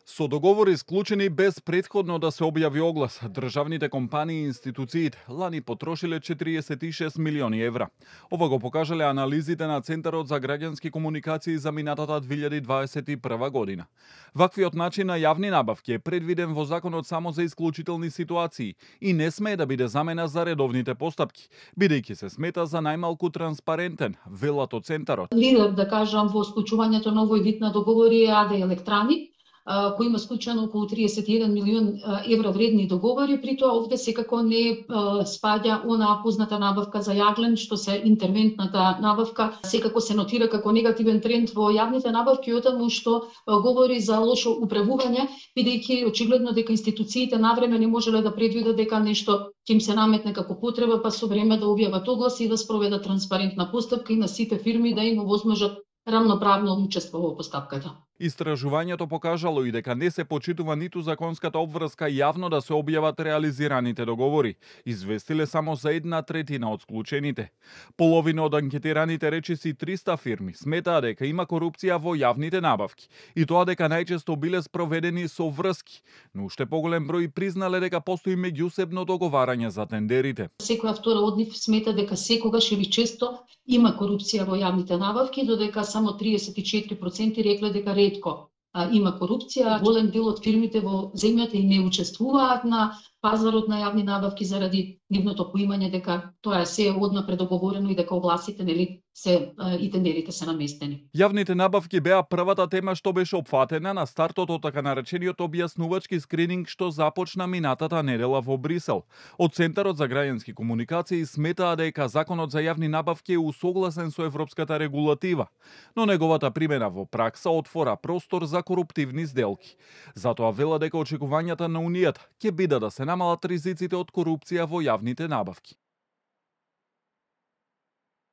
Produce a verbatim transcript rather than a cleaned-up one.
Со договори склучени без претходно да се објави оглас, државните компании и институциите лани потрошиле четириесет и шест милиони евра. Ова го покажале анализите на Центарот за граѓански комуникации за минатата две илјади дваесет и прва година. Ваквиот начин на јавни набавки е предвиден во законот само за исклучителни ситуации и не смее да биде замена за редовните постапки, бидејќи се смета за најмалку транспарентен, велат од Центарот. Лидер, да кажам, во склучувањето на овој вид на договори е АД Електрани, кој има склучено околу триесет и еден милион евра вредни договори, при тоа овде секако не спаѓа онаа позната набавка за јаглен, што се интервентната набавка, секако се нотира како негативен тренд во јавните набавки, отаму што говори за лошо управување, бидејќи очигледно дека институциите навреме не можеле да предвидат дека нешто ќе им се наметне како потреба, па со време да објават оглас и да спроведат транспарентна постапка и на сите фирми да им овозможат рамноправно учество во постапката. Истражувањето покажало и дека не се почитува ниту законската обврска јавно да се објават реализираните договори, известиле само за една третина од склучените. Половина од анкетираните речиси триста фирми сметаа дека има корупција во јавните набавки и тоа дека најчесто биле спроведени со врски, но уште поголем број признале дека постои меѓусебно договарање за тендерите. Секоја втора од нив смета дека секогаш или често има корупција во јавните набавки, додека само триесет и четири проценти рекле дека ретко а, има корупција. Голем дел од фирмите во земјата и не учествуваат на пазарот на јавни набавки заради нивното поимање дека тоа е се одна предоговорено и дека огласите нели се а, и тендерите се наместени. Јавните набавки беа првата тема што беше опфатена на стартот од така наречениот објаснувачки скрининг што започна минатата недела во Брисел. Од Центарот за граѓански комуникации сметаа дека законот за јавни набавки е усогласен со европската регулатива, но неговата примена во пракса отвора простор за коруптивни сделки. Затоа вела дека очекувањата на Унијата ќе биде да се намалат ризиците од корупција во јавните набавки.